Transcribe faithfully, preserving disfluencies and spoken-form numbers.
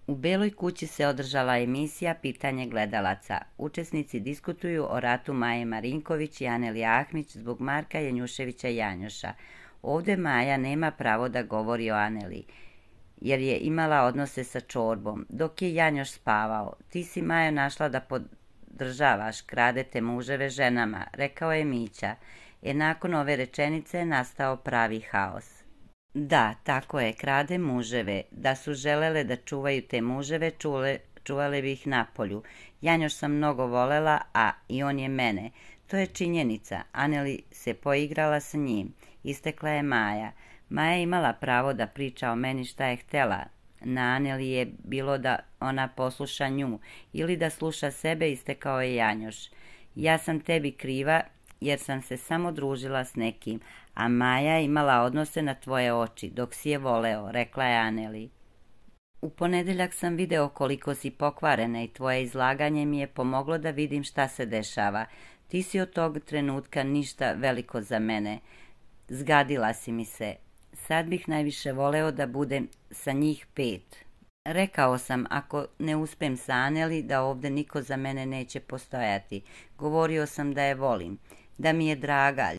U Beloj kući se održala emisija Pitanje gledalaca. Učesnici diskutuju o ratu Maje Marinković i Aneli Ahmić zbog Marka Janjuševića Janjuša. Ovdje Maja nema pravo da govori o Aneli, jer je imala odnose sa Čorbom, dok je Janjoš spavao. Ti si, Majo, našla da podržavaš, kradete muževe ženama, rekao je Mića. E nakon ove rečenice je nastao pravi haos. Da, tako je, krade muževe. Da su želele da čuvaju te muževe, čule, čuvale bi ih napolju. Janjoš sam mnogo volela, a i on je mene. To je činjenica. Aneli se poigrala sa njim. Istekla je Maja. Maja je imala pravo da priča o meni šta je htela. Na Aneli je bilo da ona posluša nju ili da sluša sebe, istekao je Janjoš. Ja sam tebi kriva jer sam se samo družila s nekim, a Maja je imala odnose na tvoje oči dok si je voleo, rekla je Aneli. U ponedeljak sam video koliko si pokvarena i tvoje izlaganje mi je pomoglo da vidim šta se dešava. Ti si od tog trenutka ništa veliko za mene. Zgadila si mi se. Sad bih najviše voleo da budem sa njih pet. Rekao sam, ako ne uspem sa Aneli, da ovdje niko za mene neće postojati. Govorio sam da je volim, da mi je draga,